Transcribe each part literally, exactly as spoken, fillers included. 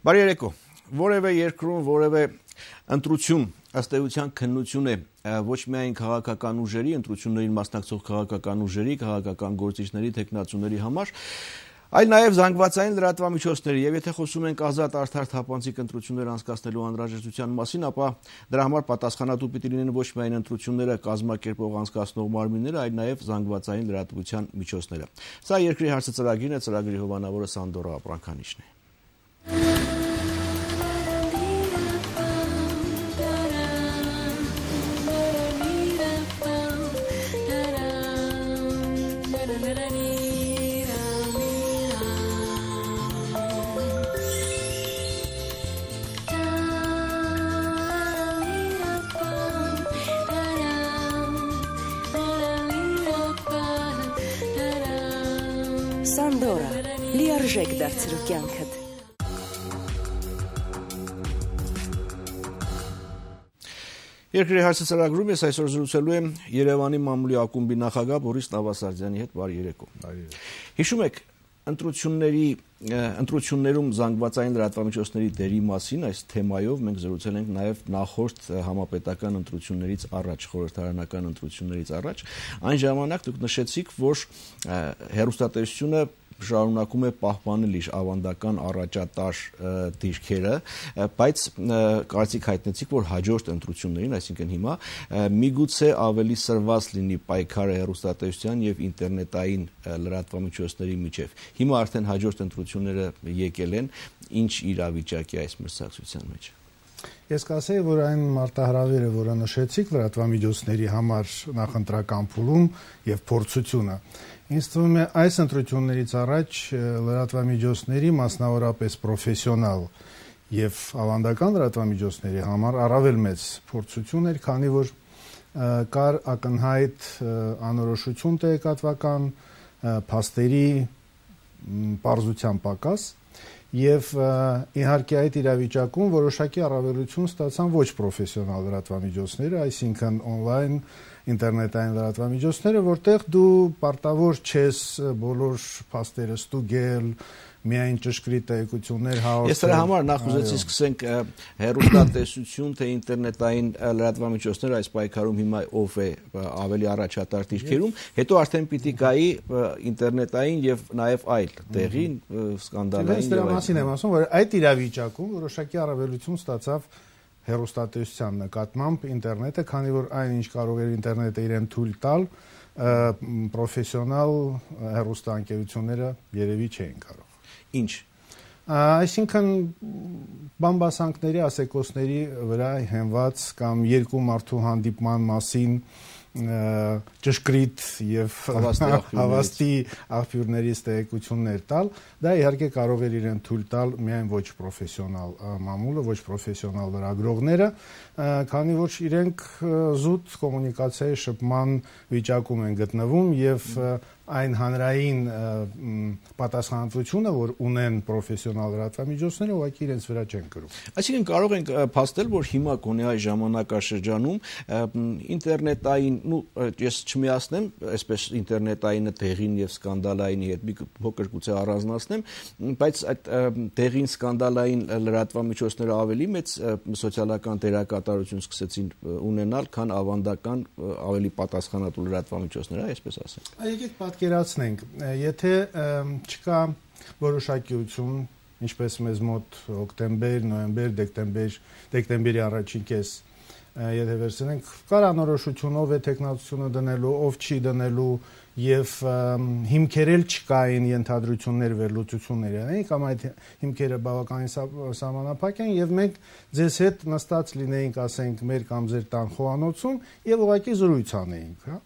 Բարի երեկո, որևէ երկրում, որևէ ընտրություն, ըստ էության քննություն է ոչ միայն քաղաքական ուժերի, ընտրություններին մասնակցող քաղաքական ուժերի, քաղաքական գործիչների, թեկնածուների համար, այլ նաև զանգվածային լրատվամիջոցների, եւ եթե խոսում ենք ազատ, արդար, թափանցիկ ընտրություններ անցկացնելու անհրաժեշտության մասին, ապա դրա համար պատասխանատու պիտի լինեն ոչ միայն ընտրությունները կազմակերպող անցկացնող մարմինները, այլ նաև զանգվածային լրատվության միջոցները։ Սա երկրի հարցը ծրագիրն է, ծրագրի հովանավորը Սանդորա Ապրանքանիշն է։ Սանդորա, լիարժեք դարձրու կյանքդ։ Երկրի հարցը ծրագրում ես այսօր զրուցելու եմ Երևանի մամուլի ակումբի նախագահ Բորիս Նավասարդյանի հետ։ Բարի երեկո։ Հիշում եք, ընտրությունների ընտրություններում զանգվածային լրատվամիջոցների դերի մասին այս թեմայով մենք զրուցել ենք նաև նախորդ համապետական ընտրություններից առաջ, խորհրդարանական ընտրություններից առաջ։ Այն ժամանակ դուք նշեցիք, որ հեռուստատեսությունը շարունակում է պահպանել իր ավանդական առաջատար դիրքերը, բայց կարծիք հայտնեցիք, որ հաջորդ ընտրություններին, այսինքն հիմա, միգուցե ավելի սրված լինի պայքարը հեռուստատեսության եւ ինտերնետային լրատվամիջոցների միջև։ Հիմա արդեն հաջորդ ընտրությունները եկել են, ինչ իրավիճակ է այս մրցակցության մեջ։ Ես կասեի, որ այն մարտահրավերը, որը նշեցիք լրատվամիջոցների համար նախընտրական փուլում եւ փորձությունը, ինձ թվում է այս ընտրություններից առաջ լրատվամիջոցների, մասնավորապես պրոֆեսիոնալ եւ ավանդական լրատվամիջոցների համար առավել մեծ փորձություն էր, քանի որ կար ակնհայտ անորոշություն տեղեկատվական, փաստերի պարզության պակաս եւ իհարկե այդ իրավիճակում որոշակի առավելություն ստացան ոչ պրոֆեսիոնալ լրատվամիջոցները, այսինքն on-line ինտերնետային լրատվամիջոցները, որտեղ դու պարտավոր չես բոլոր փաստերը ստուգել, միայն ճշգրիտ տեղեկություններ հաղորդել։ Ես դրա համար նախ ուզեցի սկսենք հեռուստատեսություն, թե ինտերնետային լրատվամիջոցներ այս պայքարում հիմա ով է ավելի առաջատար դիրքերում, հետո արդեն պիտի գայի ինտերնետային եւ նաեւ այլ տեղին սկանդալային։ Ես դրա մասին եմ ասում, որ այդ իրավիճակում որոշակի առավելություն ստացավ հեռուստատեսության նկատմամբ ինտերնետը, քանի որ այն ինչ կարող էր ինտերնետը իրեն թույլ տալ, պրոֆեսիոնալ հեռուստաընկերությունները երևի չէին կարող։ Ինչ։ Այսինքն բամբասանքների, ասեկոսների վրա հենված կամ երկու մարդու հանդիպման մասին ճշգրիտ եւ հավաստի աղբյուրներից տեղեկություններ տալ, դա իհարկե կարող էր իրեն թույլ տալ միայն ոչ պրոֆեսիոնալ մամուլը, ոչ պրոֆեսիոնալ լրագրողները, քանի որ իրենք զուտ կոմունիկացիայի շփման վիճակում են գտնվում եւ այն հանրային պատասխանատվությունը, որ ունեն պրոֆեսիոնալ լրատվամիջոցները, ուղղակի իրենց վրա չեն կրում։ Այսինքն կարող ենք փաստել, որ հիմա կոնե այս ժամանակաշրջանում ինտերնետային, ну, ես չմիացնեմ, այսպես ինտերնետայինը տեղին եւ սկանդալայինի հետ մի փոքր գուցե առանձնացնեմ, բայց այդ տեղին սկանդալային լրատվամիջոցները ավելի մեծ սոցիալական դերակատարություն սկսեցին ունենալ, քան ավանդական ավելի պատասխանատու լրատվամիջոցները, այսպես ասեմ։ Եկեք պատկերացնենք, եթե չկա որոշակիություն, ինչպես մեզ մոտ հոկտեմբեր, նոյեմբեր, դեկտեմբեր, դեկտեմբերի առաջին կես, եթե վերցնենք, կար անորոշություն, ով է տեխնացությունը դնելու, ով չի դնելու եւ հիմքերել չկային ենթադրություններ վերլուծություններ են, կամ այդ հիմքերը բավականին սահմանափակ են եւ մենք ձեզ հետ նստած լինեինք, ասենք, մեր կամ ձեր տան խոհանոցում եւ ուղղակի զրույց անեինք, հա։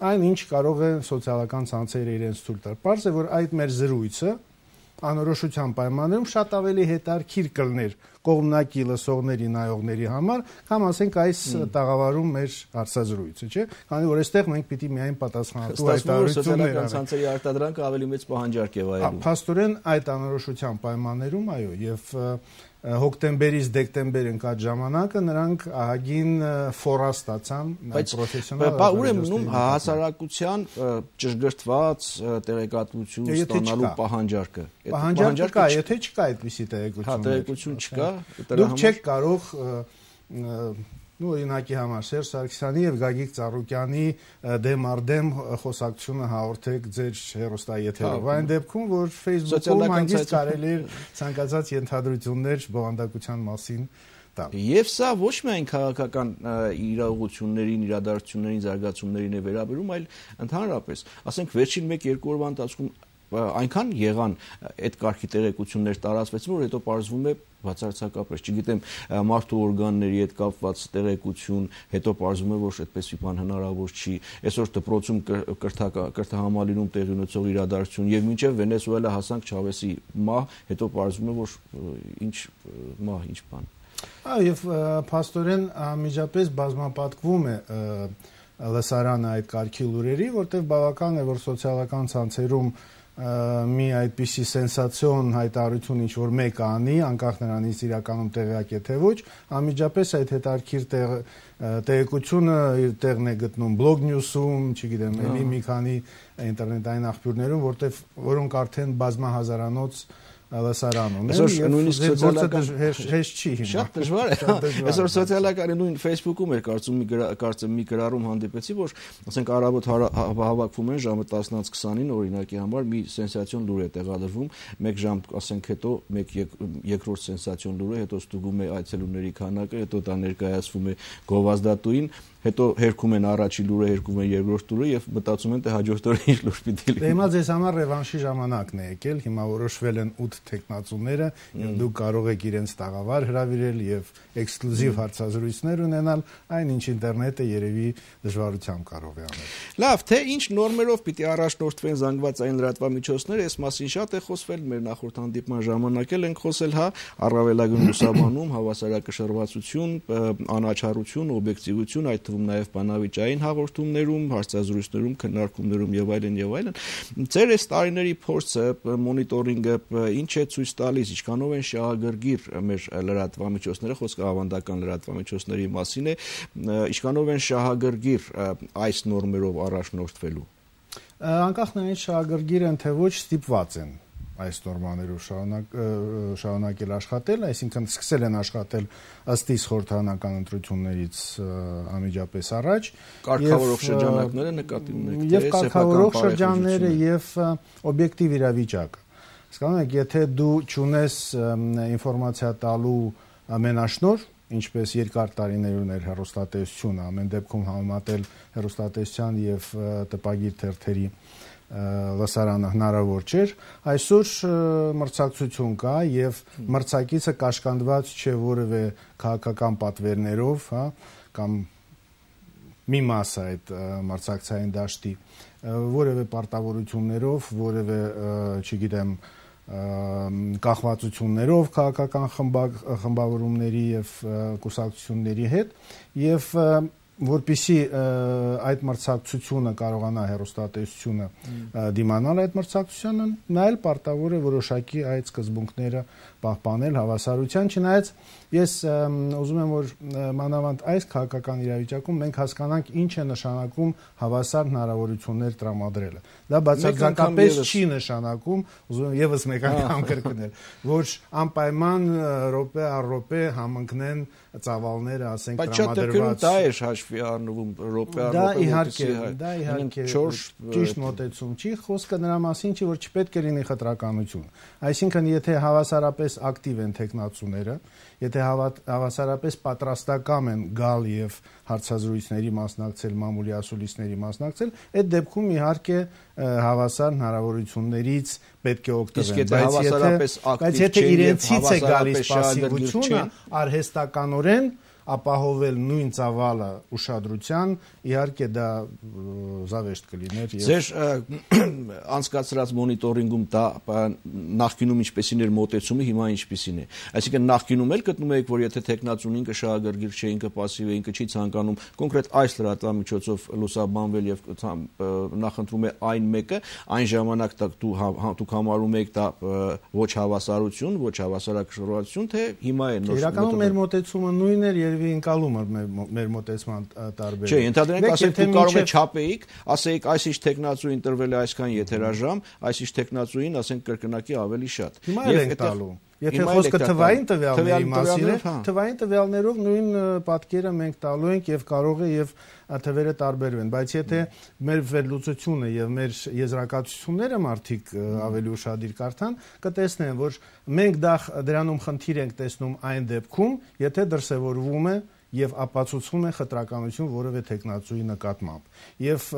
Այն ինչ կարող է սոցիալական ցանցերը իրենց թույլ տալ։ Պարզ է, որ այդ մեր զրույցը անորոշության պայմաններում շատ ավելի հետաքրքիր կլներ կողմնակի լսողների, նայողների համար, կամ ասենք այս տաղավարում մեր հարցազրույցը, չէ՞, քանի որ այստեղ մենք պիտի միայն պատասխանատու հայտարարություններ անենք։ Ցանցերի արտադրանքը ավելի մեծ պահանջարկ է վայելում։ Փաստորեն այդ անորոշության պայմաններում, այո, եւ հոկտեմբերից դեկտեմբեր ընկած ժամանակը նրանք ահագին ֆորա ստացան պրոֆեսիոնալ բայց ուրեմն հասարակության ճշգրտված տեղեկատվություն ստանալու պահանջարկը պահանջարկը կա, եթե չկա այդպիսի տեղեկություն, հա տեղեկություն չկա, դուք չեք կարող նու օրինակի համար Սերժ Սարգսյանի եւ Գագիկ Ծառուկյանի դեմ առ դեմ խոսակցությունը հաղորդեք ձեր հեռուստաեթերով։ Այն դեպքում, որ Facebook-ում հանգիստ կարելի է ցանկացած ենթադրություններ բովանդակության մասին տալ։ Եվ սա ոչ միայն քաղաքական իրողություններին, իրադարձություններին, զարգացումներին է վերաբերում, այլ ընդհանրապես, ասենք վերջին մեկ-երկու օրվա ընթացքում այնքան եղան այդ կարգի տեղեկություններ տարածվեցին, որ հետո պարզվում է բացարձակապես, չգիտեմ, մարդու օրգանների հետ կապված տեղեկություն, հետո պարզվում է, որ այդպես մի բան հնարավոր չի, այսօր դպրոցում կրթահամալիրում տեղի ունեցող իրադարձություն եւ մինչեւ Վենեսուելա հասանք Չավեսի մահ, հետո պարզվում է, որ ինչ մահ, ինչ բան։ Այո, եւ փաստորեն միջապես բազմապատկվում է լսարանը այդ կարգի լուրերի, որտեղ բավական է, որ սոցիալական ցանցերում մի այդպիսի սենսացիոն հայտարարություն ինչ որ մեկ անի, անկախ նրանից իրականում տեղյակ է թե ոչ, անմիջապես այդ հետարքիր տեղեկությունը իր տեղն է գտնում Blog News-ում, չգիտեմ, ելի մի քանի ինտերնետային աղբյուրներում, որտեղ որոնք արդեն բազմահազարանոց լսարան ունեն, եւ նույնիսկ սոցիալական հեշտ չի հիմա։ Շատ դժվար է։ Այսօր սոցիալական նույն Facebook-ում էր կարծում մի կարծեմ մի գրառում հանդիպեցի, որ ասենք առավոտ հավաքվում են ժամը տասնից քսանին օրինակի համար մի սենսացիոն լուր է տեղադրվում, մեկ ժամ ասենք հետո մեկ երկրորդ սենսացիոն լուրը, հետո ստուգում է այցելուների քանակը, հետո դա ներկայացվում է գովազդատուին, հետո հերքում են առաջին լուրը, հերքում են երկրորդ լուրը եւ մտածում են թե հաջորդ օրը ինչ լուր պիտի լինի։ Հիմա ձեզ համար ռևանշի ժամանակն է եկել, հիմա որոշվել են ութ տեխնացուները, եւ դուք կարող եք իրենց տաղավար հրավիրել եւ էքսկլյուզիվ հարցազրույցներ ունենալ, այն ինչ ինտերնետը երևի դժվարությամբ կարող է անել։ Լավ, թե ինչ նորմերով պիտի առաջնորդվեն զանգվածային լրատվամիջոցները, այս մասին շատ է խոսվել, մեր նախորդ հանդիպման ժամանակ էլ ենք խոսել, հա, առավելագույն լուսաբանում, հավասարակշռվածություն, անաչառություն, օբյեկտիվություն, այդ նաև բանավիճային հաղորդումներում, հարցազրույցներում, քննարկումներում եւ այլն եւ այլն։ Ձեր այս տարիների փորձը, մոնիտորինգը ինչ է ցույց տալիս, ինչքանով են շահագրգիռ մեր լրատվամիջոցները, խոսքը ավանդական լրատվամիջոցների մասին է, ինչքանով են շահագրգիռ այս նորմերով առաջնորդվելու։ Անկախ նրանից շահագրգիռ են թե ոչ, ստիպված են այս նորմաներով շարունակ շարունակել աշխատել, այսինքն սկսել են աշխատել ըստ իս խորհրդարանական ընտրություններից անմիջապես առաջ, կարգավորող շրջանակները նկատի ունեք, եւ կարգավորող շրջանները եւ օբյեկտիվ իրավիճակը։ Հասկանում եք, եթե դու ճունես ինֆորմացիա տալու ամենաշնոր, ինչպես երկար տարիներ ուներ հեռուստատեսությունը, ամեն դեպքում համեմատել հեռուստատեսության եւ տպագիր թերթերի լսարանը հնարավոր չէր, այսօր մրցակցություն կա եւ մրցակիցը կաշկանդված չէ որևէ քաղաքական պատվերներով, հա, կամ մի մասը այդ մրցակցային դաշտի որևէ պարտավորություններով, որևէ, չգիտեմ, կախվածություններով քաղաքական խմբավորումների եւ կուսակցությունների հետ եւ որպեսզի այդ մրցակցությունը կարողանա հեռուստատեսությունը դիմանալ այդ մրցակցությանը, նա էլ պարտավոր է որոշակի այդ սկզբունքները պահպանել հավասարության, չնայած ես ուզում եմ որ մանավանդ այս քաղաքական իրավիճակում մենք հասկանանք ինչ է նշանակում հավասար հնարավորություններ տրամադրելը։ Դա բացարձակապես չի նշանակում, ուզում եմ եւս մեկ անգամ կրկնել, որ անպայման րոպե առ րոպե համընկնեն ծավալները, ասենք, տրամադրված։ Դա է հաշվի առնվում րոպե առ րոպե։ Դա իհարկե, դա իհարկե ճիշտ մոտեցում չի, խոսքը նրա մասին չի, որ չպետք է լինի խտրականություն։ Այսինքն, եթե հավասարապես ակտիվ են տեխնացուները, եթե հավասարապես պատրաստակամ են գալ եւ հարցազրույցների մասնակցել, մամուլի ասուլիսների մասնակցել, այդ դեպքում իհարկե հավասար հնարավորություններից պետք է օգտվեն, բայց եթե իրենցից է գալիս պասիվությունը, արհեստականորեն ապահովել նույն ծավալը ուշադրության, իհարկե դա զավեշտ կլիներ։ Ձեր անցկացրած մոնիտորինգում դա նախկինում ինչպեսին էր մոտեցումը, հիմա ինչպեսին է։ Այսինքն նախկինում էլ գտնում եք, որ եթե տեխնացուն ինքը շահագրգիռ չէ, ինքը пассив է, ինքը չի ցանկանում կոնկրետ այս լրատվամիջոցով լուսաբանվել եւ նախընտրում է այն մեկը, այն ժամանակ դուք համարում եք դա ոչ հավասարություն, ոչ հավասարակշռություն, թե հիմա է նոր։ Իրականում մեր մոտեցումը նույնն էր, երևի ընկալում էր մեր մոտեցման տարբերակը։ Չէ, ընդհանրապես ասենք դուք կարող եք չափեիք, ասեիք այսինչ տեխնացուին տրվել է այսքան եթերաժամ, այսինչ տեխնացուին ասենք կրկնակի ավելի շատ։ Հիմա էլ ենք տալու։ Եթե խոսքը թվային տվյալների մասին է, թվային տվյալներով նույն պատկերը մենք տալու ենք եւ կարող է եւ թվերը տարբերվեն, բայց եթե մեր վերլուծությունը եւ մեր եզրակացությունները մարդիկ ավելի ուշադիր կարդան, կտեսնեն, որ մենք դա դրանում խնդիր ենք տեսնում այն դեպքում, եթե դրսևորվում է եւ ապացուցվում է խտրականություն որևէ տեխնացուի նկատմամբ։ Եվ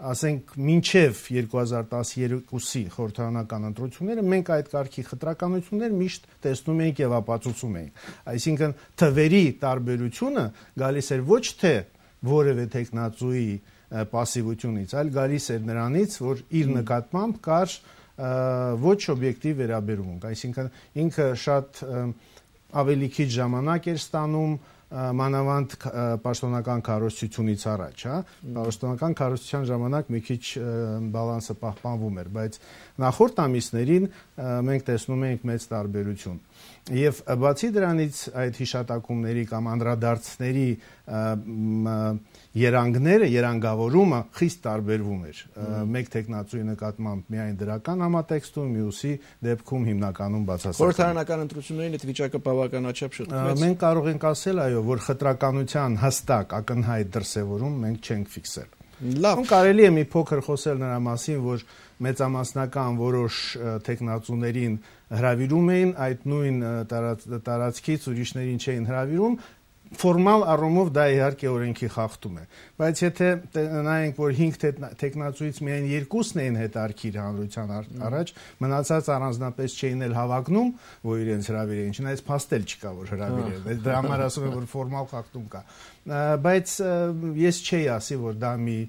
ասենք մինչև երկու հազար տասներկուսի խորհրդարանական ընտրությունները մենք այդ կարգի խտրականություններ միշտ տեսնում էինք եւ ապացուցում էինք։ Այսինքն թվերի տարբերությունը գալիս էր ոչ թե որևէ տեխնացուի пассивությունից, այլ գալիս էր նրանից, որ իր նկատմամբ կար ոչ օբյեկտիվ վերաբերմունք, այսինքն ինքը շատ ավելի քիչ ժամանակ էր ստանում մանավանդ պաշտոնական քարոզչությունից առաջ, հա, պաշտոնական քարոզչության ժամանակ մի քիչ բալանսը պահպանվում էր, բայց նախորդ ամիսներին մենք տեսնում ենք մեծ տարբերություն։ Եվ բացի դրանից այդ հիշատակումների կամ անդրադարձների երանգները, երանգավորումը խիստ տարբերվում էր։ Մեկ տեխնացուի նկատմամբ միայն դրական համատեքստում, մյուսի դեպքում հիմնականում բացասական։ Խորհրդարանական ընտրություններին այդ վիճակը բավականաչափ շփոթվեց։ Մենք կարող ենք ասել, այո, որ խտրականության հստակ ակնհայտ դրսևորում մենք չենք ֆիքսել։ Լավ, կարելի է մի փոքր խոսել նրա մասին, որ մեծամասնական որոշ տեխնացուներին հրավիրում էին, այդ նույն տարածքից ուրիշներին չէին հրավիրում, ֆորմալ առումով դա իհարկե օրենքի խախտում է, բայց եթե նայենք, որ հինգ տեխնացուից միայն երկուսն էին հետարքիր հանրության առաջ, մնացած առանձնապես չէին էլ հավակնում, որ իրենց հրավիրեին, չնայած փաստել չկա, որ հրավիրել, դրա համար ասում եմ, որ ֆորմալ խախտում կա, բայց ես չէի ասի, որ դա մի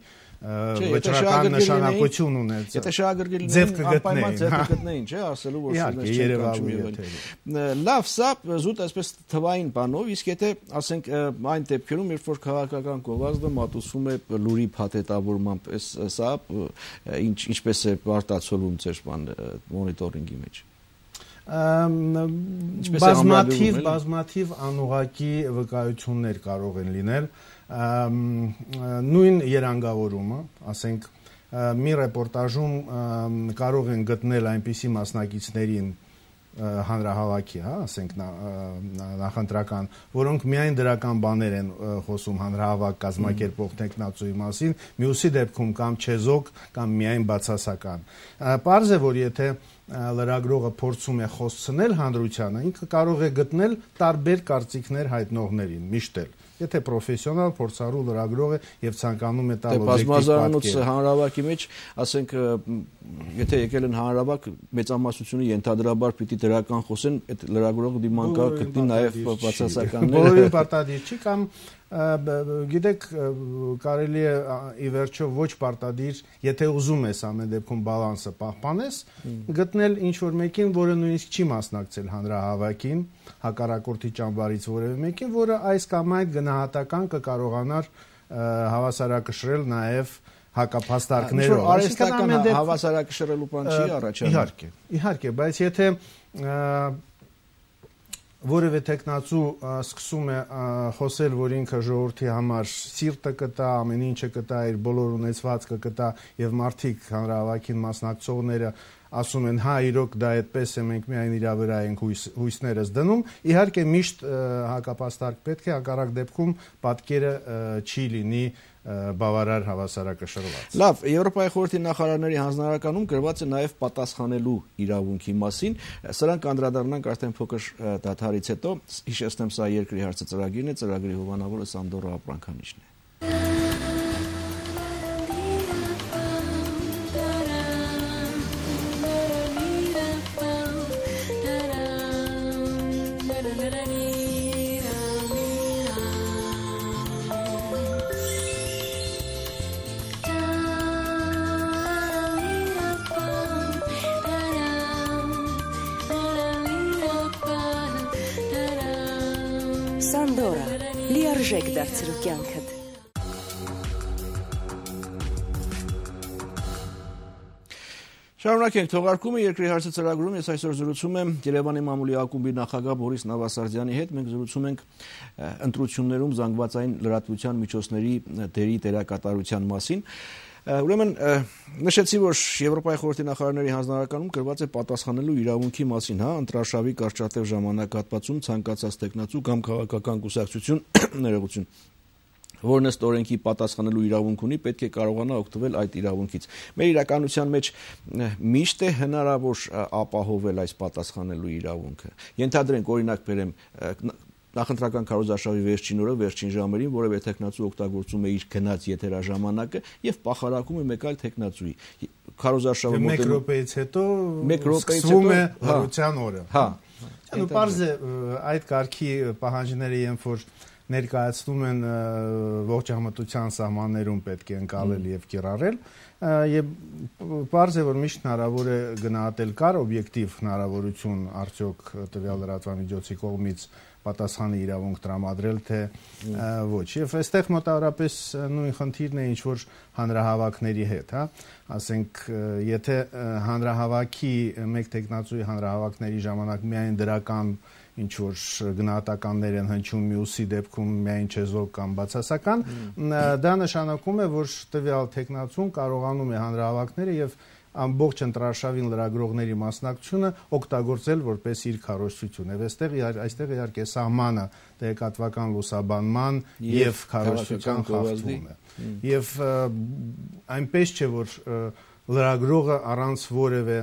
վճռական նշանակություն ունեցել։ Եթե շահագրգիռ լինեին, անպայման ձեռք կգտնեին, չէ, ասելու որ իհարկե երևալու է։ Լավ, սա զուտ այսպես թվային բանով, իսկ եթե ասենք այն դեպքերում, երբ որ քաղաքական գովազդը մատուցվում է լուրի փաթեթավորմամբ, սա ինչպես է արտացոլվում ձեր մոնիտորինգի մեջ։ Բազմաթիվ բազմաթիվ անուղղակի վկայություններ կարող են լինել, նույն երանգավորումը, ասենք մի ռեպորտաժում կարող են գտնել այնպիսի մասնակիցներին հանրահավաքի, հա, ասենք նախընտրական, որոնք միայն դրական բաներ են խոսում հանրահավաք կազմակերպող տեխնացուի մասին, մյուսի դեպքում կամ չեզոք կամ միայն բացասական։ Պարզ է, որ եթե լրագրողը փորձում է խոսցնել հանրությանը, ինքը կարող է գտնել տարբեր կարծիքներ հայտնողներին, միշտ էլ։ Եթե պրոֆեսիոնալ փորձառու լրագրող է եւ ցանկանում է տալ օբյեկտիվ բազմազանոց հանրահավաքի մեջ, ասենք, եթե եկել են հանրահավաք, մեծամասնությունը ենթադրաբար պիտի դրական խոսեն, այդ լրագրողը դիման կա գտնի նաեւ բացասականներ։ Բոլորին պարտադիր չի կամ գիտեք, կարելի է ի վերջո ոչ պարտադիր, եթե ուզում ես ամեն դեպքում բալանսը պահպանես, գտնել ինչ-որ մեկին, որը նույնիսկ չի մասնակցել հանրահավաքին, հակառակորդի ճամբարից որևէ մեկին, որը այս կամ այդ գնահատական կկարողանար հավասարակշռել նաև հակափաստարկներով։ Արհեստական հավասարակշռելու բան չի առաջանում։ Իհարկե, իհարկե, բայց եթե որևէ տեխնացու սկսում է խոսել, որ ինքը ժողովրդի համար սիրտը կտա, ամեն ինչը կտա, իր բոլոր ունեցվածքը կտա եւ մարդիկ հանրահավաքին մասնակցողները ասում են, հա, իրոք դա այդպես է, մենք միայն իրա վրա ենք հույսներս դնում, իհարկե միշտ հակապաստարկ պետք է, հակառակ դեպքում պատկերը չի լինի բավարար հավասարակշռված։ Լավ, Եվրոպայի խորհրդի նախարարների հանձնարարականում գրված է նաև պատասխանելու իրավունքի մասին։ Սրանք անդրադառնանք արդեն փոքր դադարից հետո։ Հիշեցնեմ, սա երկրի հարցը ծրագիրն է, ծրագրի հովանավորը Սանդորա Ապրանքանիչն է։ Սանդորա, լիարժեք դարձրու կյանքդ։ Շարունակենք թողարկումը երկրի հարցը ծրագրում ես այսօր զրուցում եմ Երևանի մամուլի ակումբի նախագահ Բորիս Նավասարդյանի հետ մենք զրուցում ենք ընտրություններում զանգվածային լրատվության միջոցների դերի դերակատարության մասին ուրեմն նշեցի որ Եվրոպայի խորհրդի նախարարների հանձնարարականում գրված է պատասխանելու իրավունքի մասին հա ընտրաշավի կարճատև ժամանակահատվածում ցանկացած տեխնացու կամ քաղաքական կուսակցություն ներողություն որն ըստ օրենքի պատասխանելու իրավունք ունի, պետք է կարողանա օգտվել այդ իրավունքից։ Մեր իրականության մեջ միշտ է հնարավոր ապահովել այս պատասխանելու իրավունքը։ Ենթադրենք օրինակ բերեմ նախընտրական քարոզարշավի վերջին օրը, վերջին ժամերին որևէ տեխնացու օգտագործում է իր գնաց եթերաժամանակը եւ պախարակում է մեկ այլ տեխնացուի։ Քարոզարշավը մեկ րոպեից հետո մեկ րոպեից հետո է հրության օրը։ Հա։ Ու պարզ է այդ կարգի պահանջները երբ որ ներկայացնում են ողջ համատության սահմաններում պետք է ընկալել եւ կիրառել եւ պարզ է որ միշտ հնարավոր է գնահատել կար օբյեկտիվ հնարավորություն արդյոք տվյալ լրատվամիջոցի կողմից պատասխանի իրավունք տրամադրել թե ոչ եւ այստեղ մոտավորապես նույն խնդիրն է ինչ որ հանրահավաքների հետ հա ասենք եթե հանրահավաքի մեկ տեխնացուի հանրահավաքների ժամանակ միայն դրական ինչ որ գնահատականներ են հնչում մյուսի դեպքում միայն չեզոք կամ բացասական դա նշանակում է որ տվյալ տեխնացուն կարողանում է հանրահավաքները եւ ամբողջ ընտրարշավին լրագրողների մասնակցությունը օգտագործել որպես իր քարոզչություն եւ այստեղ այստեղ իհարկե սահմանը տեղեկատվական լուսաբանման եւ քարոզչության խախտումն է եւ այնպես չէ որ լրագրողը առանց որևէ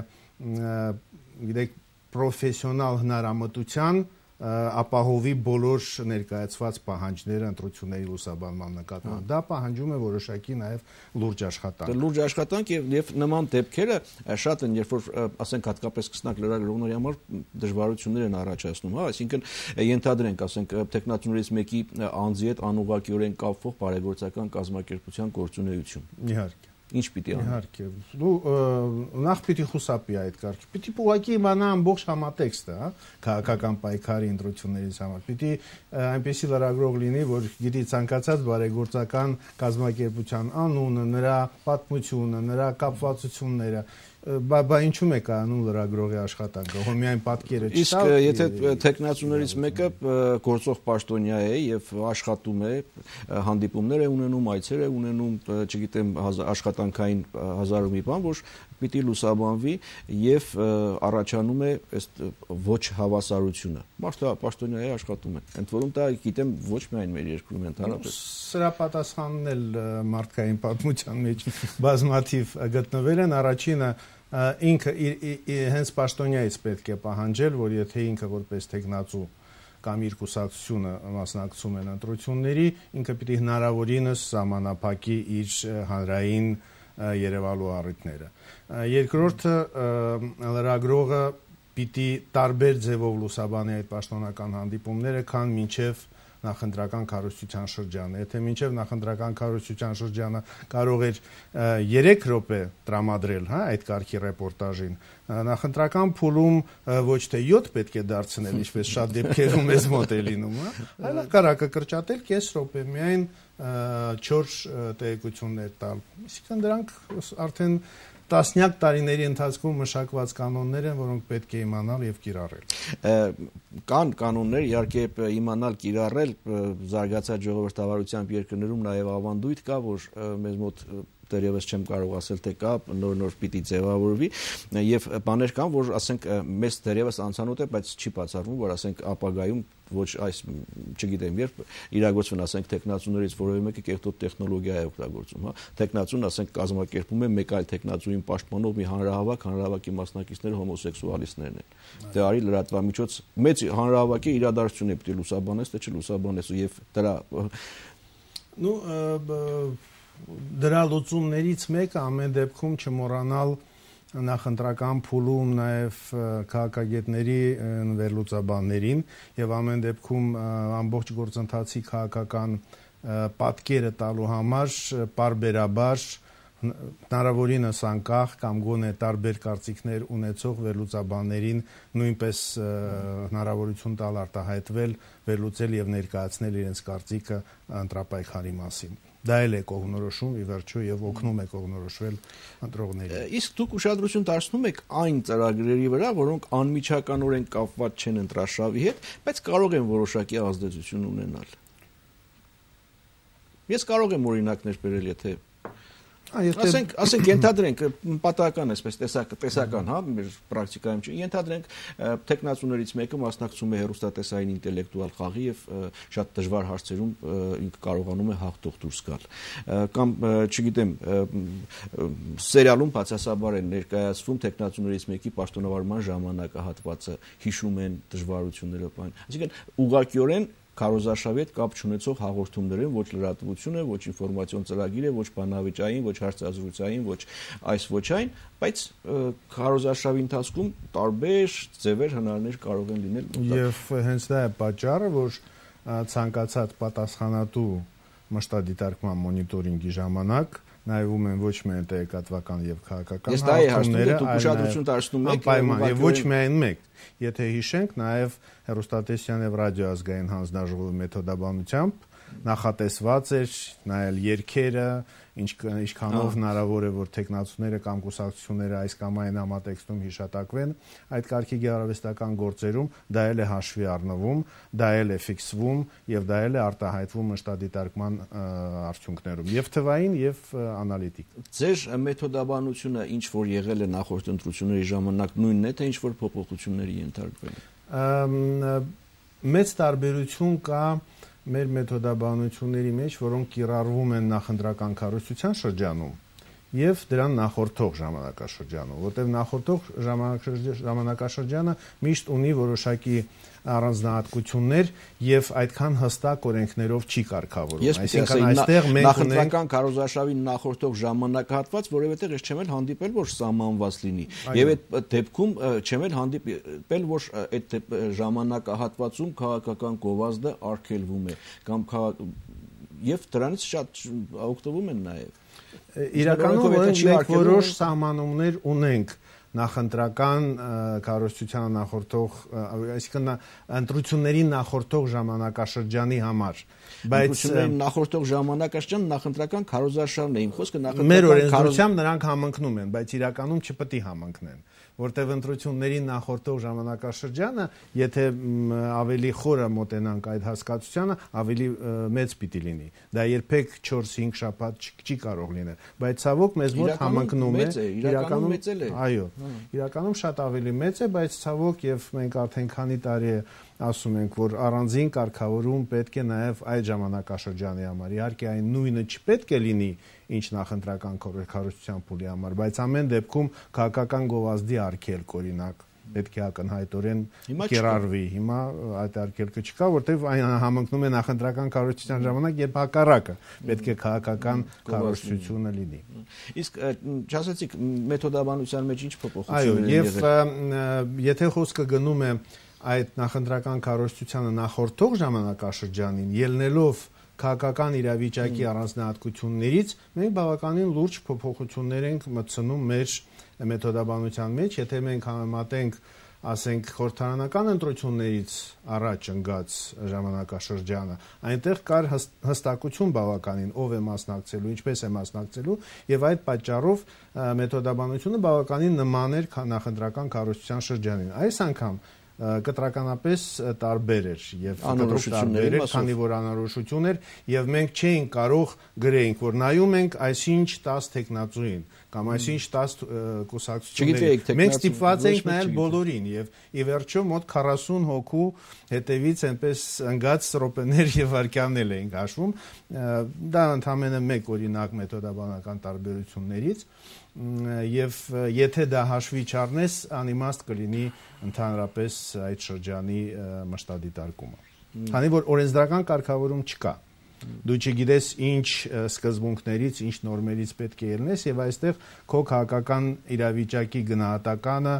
գիտեք պրոֆեսիոնալ հնարամտության ապահովի բոլոր ներկայացված պահանջները ընտրությունների լուսաբանման նկատմամբ դա պահանջում է որոշակի նաև լուրջ աշխատանք լուրջ աշխատանք եւ եւ նման դեպքերը շատ են երբ որ ասենք հատկապես կսնակ լրագրողների համար դժվարություններ են առաջացնում հա այսինքն ենթադրենք ասենք տեխնատուներից մեկի անձի հետ անուղղակիորեն կապվող բարեգործական կազմակերպության գործունեություն իհարկե Ինչ պիտի անի։ Իհարկե։ Դու նախ պիտի խուսափի այդ կարգի։ Պիտի ուղղակի իմանա ամբողջ համատեքստը, հա, քաղաքական պայքարի ընտրություններից համար։ Պիտի այնպեսի լրագրող լինի, որ գիտի ցանկացած բարեգործական կազմակերպության անունը, նրա պատմությունը, նրա կապվածությունները բա ինչու՞մ է կայանում լրագրողի աշխատանքը։ Հո միայն պատկերը չտա։ Իսկ եթե տեխնացուներից մեկը գործող պաշտոնյա է եւ աշխատում է, հանդիպումներ է ունենում, այցեր է ունենում, չգիտեմ, աշխատանքային հազար ու մի բան, որ պիտի լուսաբանվի եւ առաջանում է ըստ ոչ հավասարությունը։ Մարդը պաշտոնյա է աշխատում է։ Ընդ որում դա գիտեմ ոչ միայն մեր երկրում ընդհանրապես։ Սրա պատասխանն էլ մարդկային պատմության մեջ բազմաթիվ գտնվել են առաջինը ինքը հենց պաշտոնյայից պետք է պահանջել, որ եթե ինքը որպես տեխնացու կամ իր կուսակցությունը մասնակցում են ընտրությունների, ինքը պիտի հնարավորինս սահմանափակի իր հանրային երևալու առիթները։ Երկրորդը լրագրողը պիտի տարբեր ձևով լուսաբանի այդ պաշտոնական հանդիպումները, քան մինչև նախընտրական քարոզչության շրջանը։ Եթե մինչև նախընտրական քարոզչության շրջանը կարող էր երեք րոպե տրամադրել, հա, այդ կարգի ռեպորտաժին, նախընտրական փուլում ոչ թե յոթ պետք է դարձնել, ինչպես շատ դեպքերում էս մոտ է լինում, հա, այլ կարակը կրճատել կես րոպե, միայն չորս տեղեկություններ տալ։ Այսինքն դրանք արդեն տասնյակ տարիների ընթացքում մշակված կանոններ են, որոնք պետք է իմանալ եւ կիրառել։ Կան կանոններ, իհարկե իմանալ, կիրառել զարգացած ժողովրդավարությամբ երկրներում նաեւ ավանդույթ կա, որ մեզ մոտ դեռևս չեմ կարող ասել թե կա նոր-նոր պիտի ձևավորվի եւ բաներ կան, որ ասենք մեզ դեռևս անցանոթ է, բայց չի բացառվում, որ ասենք ապագայում ոչ այս չգիտեմ երբ իրագործվեն ասենք տեխնացուներից որևէ մեկը կեղտոտ տեխնոլոգիա է օգտագործում, հա տեխնացուն ասենք կազմակերպում է մեկ այլ տեխնացուին պաշտպանող մի հանրահավաք, հանրահավաքի մասնակիցները հոմոսեքսուալիստներն են։ Դե արի լրատվամիջոց մեծ հանրահավաքի իրադարձություն է պիտի լուսաբանես, թե չլուսաբանես եւ դրա նու դրա լուծումներից մեկը ամեն դեպքում չմոռանալ նախընտրական փուլում նաև քաղաքագետների վերլուծաբաններին եւ ամեն դեպքում ամբողջ գործընթացի քաղաքական պատկերը տալու համար պարբերաբար հնարավորինս անկախ կամ գոնե տարբեր կարծիքներ ունեցող վերլուծաբաններին նույնպես հնարավորություն տալ արտահայտվել, վերլուծել եւ ներկայացնել իրենց կարծիքը ընտրապայքարի մասին։ Դա էլ է կողմնորոշում ի վերջո եւ օգնում է կողմնորոշվել ընտրողներին։ Իսկ դուք ուշադրություն դարձնում եք այն ծրագրերի վրա, որոնք անմիջականորեն կապված չեն ընտրաշավի հետ, բայց կարող են որոշակի ազդեցություն ունենալ։ Ես կարող եմ օրինակներ բերել, եթե Ասենք, ասենք ենթադրենք պատահական այսպես տեսակ տեսական, հա, մեր պրակտիկայում չի, ենթադրենք տեխնացուներից մեկը մասնակցում է հեռուստատեսային ինտելեկտուալ խաղի եւ շատ դժվար հարցերում ինքը կարողանում է հաղթող դուրս գալ։ Կամ, չգիտեմ, սերիալում բացասաբար են ներկայացվում տեխնացուներից մեկի պաշտոնավարման ժամանակահատվածը, հիշում են դժվարությունները, բան։ Այսինքն ուղղակիորեն քարոզարշավի հետ կապ չունեցող հաղորդումներ են, ոչ լրատվություն է, ոչ ինֆորմացիոն ծրագիր է, ոչ բանավեճային, ոչ հարցազրույցային, ոչ այս ոչ այն, բայց քարոզարշավի ընթացքում տարբեր ձևեր հնարներ կարող են լինել։ Եվ հենց դա է պատճառը, որ ցանկացած պատասխանատու մշտադիտարկման մոնիտորինգի ժամանակ նայվում են ոչ միայն տեղեկատվական եւ քաղաքական հաղորդումները, այլ ուշադրություն դարձնում եք եւ ոչ միայն մեկ։ Եթե հիշենք, նաեւ հեռուստատեսության եւ ռադիոազգային հանձնաժողովի մեթոդաբանությամբ նախատեսված էր նայել երգերը, ինչքանով հնարավոր է, որ տեխնացուները կամ կուսակցությունները այս կամ այն համատեքստում հիշատակվեն, այդ կարգի գեղարվեստական գործերում դա էլ է հաշվի առնվում, դա էլ է ֆիքսվում եւ դա էլ է արտահայտվում մշտադիտարկման արդյունքներում, եւ թվային եւ անալիտիկ։ Ձեր մեթոդաբանությունը ինչ որ եղել է նախորդ ընտրությունների ժամանակ նույնն է, թե ինչ որ փոփոխությունների ենթարկվել է։ Մեծ տարբերություն կա մեր մեթոդաբանությունների մեջ, որոնք կիրառվում են նախընտրական կառույցության շրջանում եւ դրան նախորդող ժամանակաշրջանում, որտեղ նախորդող ժամանակաշրջանը միշտ ունի որոշակի առանձնահատկություններ եւ այդքան հստակ օրենքներով չի կարգավորվում։ Այսինքն այստեղ մենք նախընտրական քարոզարշավի նախորդող ժամանակահատված, որովհետեւ ես չեմ էլ հանդիպել, որ սահմանված լինի։ Եվ այդ դեպքում չեմ էլ հանդիպել, որ այդ ժամանակահատվածում քաղաքական գովազդը արգելվում է կամ եւ դրանից շատ օգտվում են նաեւ։ Իրականում մենք որոշ սահմանումներ ունենք նախընտրական կառույցությանը նախորդող, այսինքն ընտրությունների նախորդող ժամանակաշրջանի համար, բայց նախորդող ժամանակաշրջան նախընտրական քարոզարշավն է, իմ խոսքը նախընտրական մեր օրենսդրությամբ նրանք համընկնում են, բայց իրականում չպետք է համընկնեն, որտեղ ընտրությունների նախորդող ժամանակաշրջանը, եթե ավելի խորը մոտենանք այդ հասկացությանը, ավելի մեծ պիտի լինի։ Դա երբեք չորս-հինգ շաբաթ չի կարող լինել, բայց ցավոք մեզ մոտ համընկնում է, իրականում մեծ է։ Այո, իրականում շատ ավելի մեծ է, բայց ցավոք եւ մենք արդեն քանի տարի է ասում ենք, որ առանձին կարգավորում պետք է նաև այդ ժամանակաշրջանի համար։ Իհարկե այն նույնը չպետք է լինի, ինչ նախընտրական կառույցության փուլի համար, բայց ամեն դեպքում քաղաքական գովազդի արգելք, օրինակ, պետք է ակնհայտորեն կիրառվի։ Հիմա այդ արգելքը չկա, որտեղ այն համընկնում է նախընտրական կառույցության ժամանակ, երբ հակառակը պետք է քաղաքական կառույցությունը լինի։ Իսկ չասեցիք մեթոդաբանության մեջ ինչ փոփոխություններ են եղել։ Այո, եւ եթե խոսքը գնում է այդ նախընտրական կառույցությանը նախորդող ժամանակաշրջանին, ելնելով քաղաքական իրավիճակի առանձնահատկություններից, մենք բավականին լուրջ փոփոխություններ ենք մտցնում մեր մեթոդաբանության մեջ, եթե մենք համեմատենք, ասենք, խորհրդարանական ընտրություններից առաջ ընկած ժամանակաշրջանը, այնտեղ կար հստակություն բավականին, ով է մասնակցելու, ինչպես է մասնակցելու, եւ այդ պատճառով մեթոդաբանությունը բավականին նման էր նախընտրական կառույցության շրջանին։ Այս անգամ կտրականապես տարբեր էր եւ տարբեր էր, քանի որ անորոշություն էր եւ մենք չէինք կարող գրենք, որ նայում ենք այսինչ տասը տեխնացուին կամ այսինչ տասը կուսակցությունների։ Մենք ստիպված ենք նայել բոլորին եւ ի վերջո մոտ քառասուն հոգու հետևից այնպես ընկած րոպեներ եւ վայրկյաններ էինք հաշվում։ Դա ընդհանրապես մեկ օրինակ մեթոդաբանական տարբերություններից եւ եթե դա հաշվի չառնես, անիմաստ կլինի ընդհանրապես այդ շրջանի մշտադիտարկումը։ Քանի որ օրենսդրական կարգավորում չկա, դու չգիտես ինչ սկզբունքներից, ինչ նորմերից պետք է ելնես եւ այստեղ քո քաղաքական իրավիճակի գնահատականը,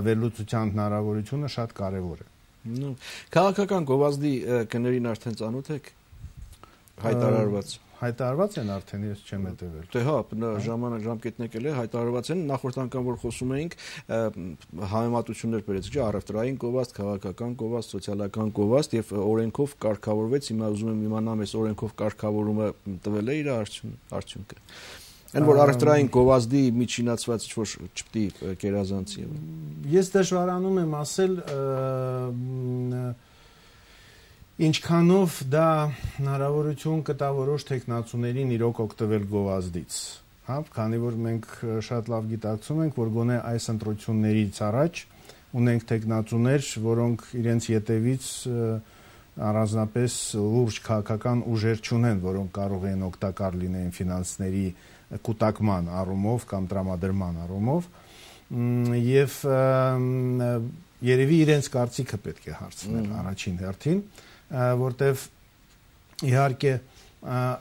վերլուծության հնարավորությունը շատ կարեւոր է։ Քաղաքական գովազդի կներին արդեն ծանոթ եք հայտարարված։ հայտարարված են արդեն, ես չեմ հետևել։ Դե հա, ժամանակ ժամկետն եկել է, հայտարարված են, նախորդ անգամ որ խոսում էինք, համեմատություններ բերեցիք, չէ, առևտրային գովազդ, քաղաքական գովազդ, սոցիալական գովազդ եւ օրենքով կարգավորվեց, հիմա ուզում եմ իմանամ, այս օրենքով կարգավորումը տվել է իր արդյունքը։ Այն որ առևտրային գովազդի միջինացված ինչ-որ չպետք է կերազանցի։ Ես դժվարանում եմ ասել ինչքանով դա հնարավորություն կտա որոշ տեխնացուներին իրոք օգտվել գովազդից, հա, քանի որ մենք շատ լավ գիտակցում ենք, որ գոնե այս ընտրություններից առաջ ունենք տեխնացուներ, որոնք իրենց ետևից առանձնապես լուրջ քաղաքական ուժեր չունեն, որոնք կարող են օգտակար լինեն ֆինանսների կուտակման առումով կամ տրամադրման առումով եւ երևի իրենց կարծիքը պետք է հարցնել առաջին հերթին, որտեվ իհարկե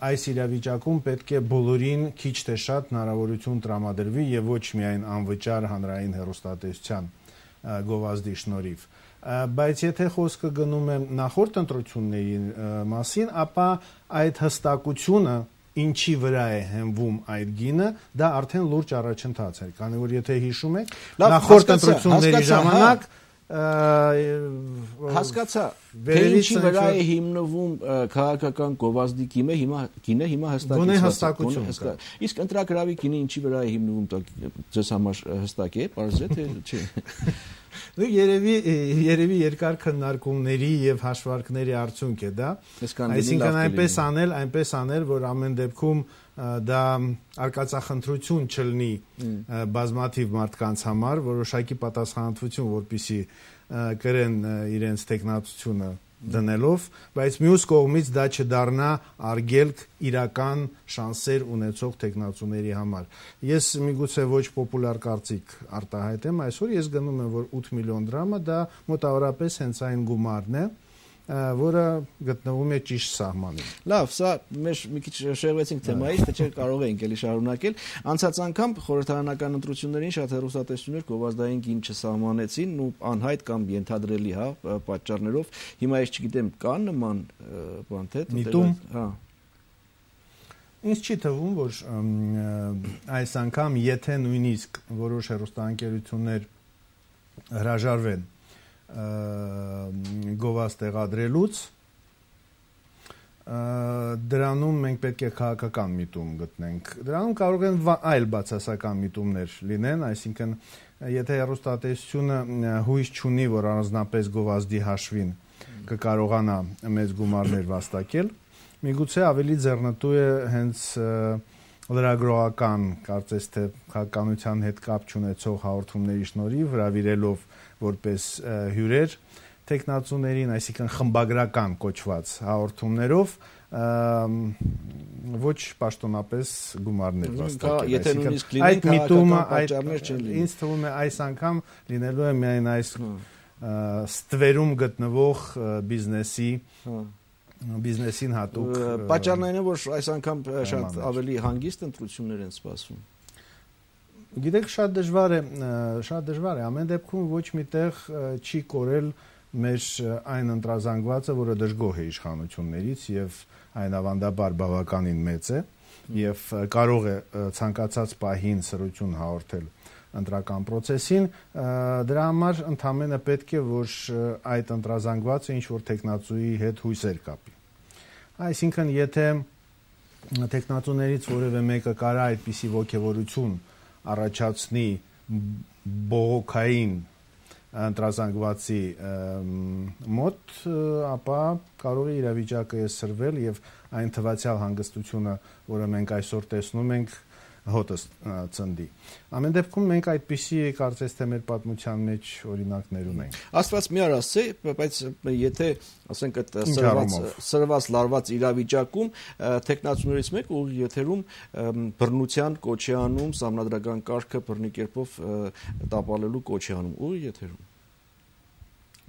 այս իրավիճակում պետք է բոլորին քիչ թե շատ հնարավորություն տրամադրվի եւ ոչ միայն անվճար հանրային հեռուստատեսության գովազդի շնորհիվ, բայց եթե խոսքը գնում է նախորդ ընտրությունների մասին, ապա այդ հստակությունը ինչի վրա է հենվում այդ գինը, դա արդեն լուրջ առաջընթաց էր, քանի որ եթե հիշում եք, նախորդ ընտրությունների ժամանակ հասկացա, թե ինչի վրա է հիմնվում քաղաքական գովազդի գինը, հիմա գինը հիմա հստակեցված է։ Իսկ ընտրագրավի գինը ինչի վրա է հիմնվում, ձեզ համար հստակ է, պարզ է, թե չէ։ Երևի երևի երկար քննարկումների եւ հաշվարկների արդյունք է դա, այսինքն այնպես անել, այնպես անել, որ ամեն դեպքում դա արկածախնդրություն չլինի բազմաթիվ մարդկանց համար, որոշակի պատասխանատվություն, որպեսզի կրեն իրենց տեխնացությունը դնելով, բայց մյուս կողմից դա չդառնա արգելք իրական շանսեր ունեցող տեխնացուների համար։ Ես միգուցե ոչ պոպուլար կարծիք արտահայտեմ, այսօր ես գնում եմ, որ ութ միլիոն դրամը դա մոտավորապես հենց այն գումարն է, որը գտնվում է ճիշտ սահմանում։ Լավ, սա մեր մի քիչ շեղվեցինք թեմայից, թե չէ կարող էինք էլի շարունակել։ Անցած անգամ խորհրդարանական ընտրություններին շատ հեռուստատեսություններ գովազդային գին չսահմանեցին, ու անհայտ կամ ենթադրելի, հա, պատճառներով։ Հիմա ես չգիտեմ, կա նման բան թե միտում, հա։ Ինձ չի թվում, որ այս անգամ եթե նույնիսկ որոշ հեռուստաընկերություններ հրաժարվեն գովազդ տեղադրելուց, դրանում մենք պետք է քաղաքական միտում գտնենք։ Դրանում կարող են այլ բացասական միտումներ լինեն, այսինքն եթե հեռուստատեսությունը հույս չունի, որ առանձնապես գովազդի հաշվին կկարողանա մեծ գումարներ վաստակել, միգուցե ավելի ձեռնտու է հենց լրագրողական, կարծես թե քաղաքականության հետ կապ չունեցող հաղորդումների շնորհիվ հրավիրելով որպես հյուրեր տեխնացուներին, այսինքն խմբագրական կոչված հաղորդումներով ոչ պաշտոնապես գումարներ վաստակել։ Եթե նույնիսկ լինեն քաղաքական պատճառներ չեն լինի։ Ինձ թվում է այս անգամ լինելու է միայն այս ստվերում գտնվող բիզնեսի բիզնեսին հատուկ պատճառն այն է, որ այս անգամ շատ ավելի հանգիստ ընտրություններ են սպասվում։ Գիտեք, շատ դժվար է, շատ դժվար է, ամեն դեպքում ոչ միտեղ չի կորել մեր այն ընտրազանգվածը, որը դժգոհ է իշխանություններից եւ այն ավանդաբար բավականին մեծ է եւ կարող է ցանկացած պահին սրություն հաղորդել ընտրական process-ին, դրա համար ընդհանրապես պետք է որ այդ ընտրազանգվածը ինչ որ տեխնացուի հետ հույսեր կապի։ Այսինքն եթե տեխնացուներից որևէ մեկը կարա այդպիսի ոգևորություն առաջացնի բողոքային ընտրազանգվածի մոտ, ապա կարող է իրավիճակը սրվել եւ այն թվացial հանգստությունը, որը մենք այսօր տեսնում ենք, հոտը ծնդի։ Ամեն դեպքում մենք այդպիսի կարծես թե մեր պատմության մեջ օրինակներ ունենք։ Աստված մի արասցե, բայց եթե ասենք այդ սրված լարված իրավիճակում տեխնացուներից մեկ ուղիղ եթերում բռնության կոչ է անում, սահմանադրական կարգը բռնի կերպով տապալելու կոչ է անում, ուղիղ եթերում։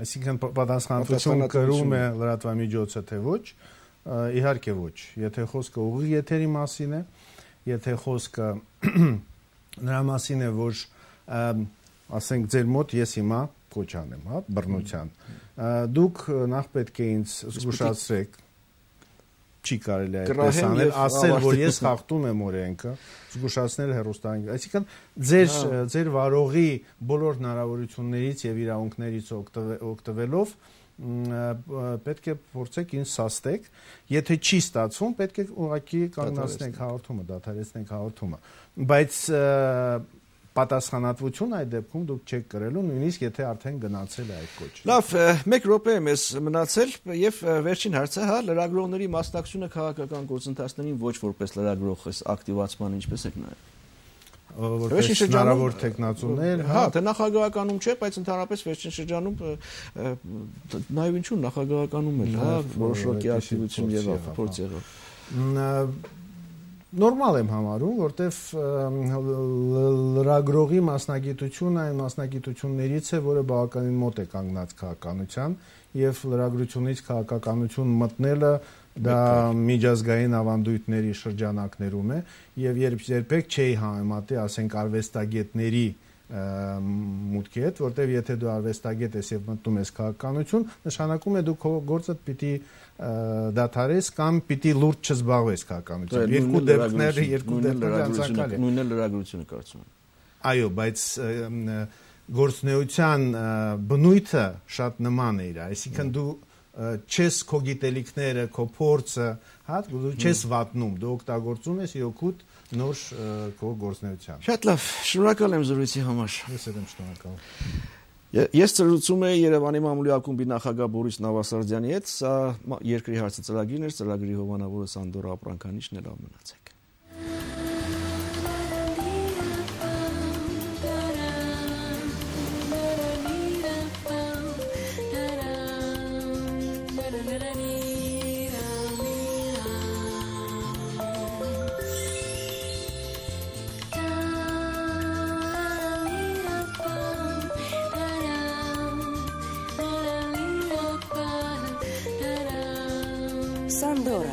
Այսինքն պատասխանատվություն կրում է լրատվամիջոցը թե ոչ, իհարկե ոչ։ Եթե խոսքը ուղիղ եթերի մասին է, եթե խոսքը նրա մասին է, որ ասենք ձեր մոտ ես հիմա կոչ անեմ, հա, բռնության, դուք նախ պետք է ինձ զգուշացրեք, չի կարելի այդպես անել, ասել, որ ես խախտում եմ օրենքը, զգուշացնել հեռուստային։ Այսինքն ձեր ձեր վարողի բոլոր հնարավորություններից եւ իրավունքներից օգտվելով պետք է փորձեք ինձ սաստեք, եթե չի ստացվում, պետք է ուղղակի կանգնացնենք հաղորդումը, դադարեցնենք հաղորդումը, բայց պատասխանատվություն այդ դեպքում դուք չեք կրելու, նույնիսկ եթե արդեն գնացել է այդ կոչը։ Լավ, մեկ րոպե է մեզ մնացել եւ վերջին հարցը, հա, լրագրողների մասնակցությունը քաղաքական գործընթացներին ոչ որպես լրագրող էս ակտիվացման ինչպես եք նայում։ Որպես հնարավոր տեխնացուներ, հա, թե նախագահականում չէ, բայց ընդհանրապես վերջին շրջանում նաեւ ինչու նախագահականում էլ, հա, որոշակի ակտիվություն եղավ, փորձ եղավ։ Նորմալ եմ համարում, որտեվ լրագրողի մասնագիտությունը այն մասնագիտություններից է, որը բավականին մոտ է կանգնած քաղաքականության եւ լրագրությունից քաղաքականություն մտնելը դա միջազգային ավանդույթների շրջանակներում է եւ երբ երբեք չի համեմատի, ասենք արվեստագետների մուտքի հետ, որտեվ եթե դու արվեստագետ ես եւ մտնում ես քաղաքականություն, նշանակում է դու քո գործը պիտի դադարես կամ պիտի լուրջ չզբաղվես քաղաքականությամբ։ Երկու դեպքները, երկու դեպքերը անցակալ է։ Նույնն էլ լրագրությունը կարծում եմ։ Այո, բայց գործնեության բնույթը շատ նման է իր, այսինքն դու չես քո գիտելիքները, քո փորձը, հա, դու չես վատնում, դու օգտագործում ես օգուտ նոր քո գործնեության։ Շատ լավ, շնորհակալ եմ զրույցի համար։ Ես եմ շնորհակալ։ Ես ծրուցում եմ Երևանի մամուլի ակումբի նախագահ Բորիս Նավասարդյանի հետ, սա երկրի հարցը ծրագիրն էր, ծրագրի հովանավորը Սանդորա Ապրանքանիչն էր, լավ մնացեք։ Սանդորա,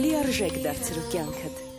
լիարժեք դարձրու կյանքդ։